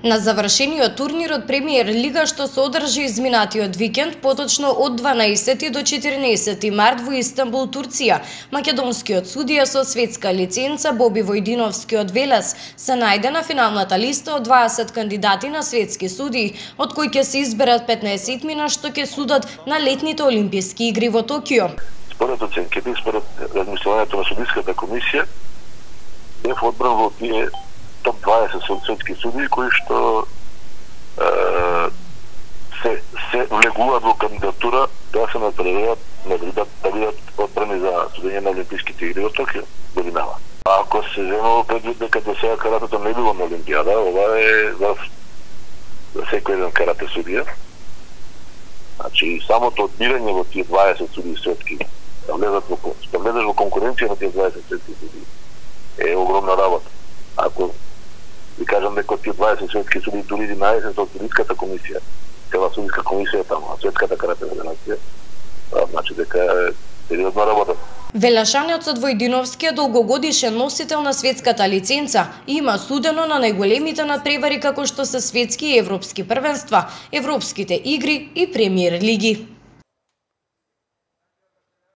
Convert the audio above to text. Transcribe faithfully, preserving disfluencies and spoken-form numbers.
На завршениот турнир од Премиер Лига што се одржи изминатиот викенд, поточно од дванаесети до четирнаесети март во Истанбул, Турција, македонскиот судија со светска лиценца Боби Војдиновски од Велес се најде на финалната листа од дваесет кандидати на светски судии, од кои ќе се изберат петнаесетмина што ќе судат на летните олимписки игри во Токио. Според оценките, според размислувањето на судиската комисија, бев одбран во тие топ дваесет светски судии кои што е, се, се влегуваат во кандидатура да се натпреварат да бидат да бидат одбрани за судење на олимписките игри во Токио годинава. Ако се земало предвид дека до сега каратето не било на Олимпијада, ова е за, за секој еден карате судија. Значи самото одбирање во тие дваесет судии светски, да влезат во да влезеш во конкуренција на тие дваесет светски судии е огромна работа. Ако ви кажам дека тие дваесет светски судии дури единаесет од судиската комисија, цела судиска комисија таму, а светската карате федерација, значи дека е сериозна работа. Велешанецот Војдиновски е долгогодишен носител на светската лиценца и има судено на најголемите надпревари како што се светски и европски првенства, европските игри и премиер лиги.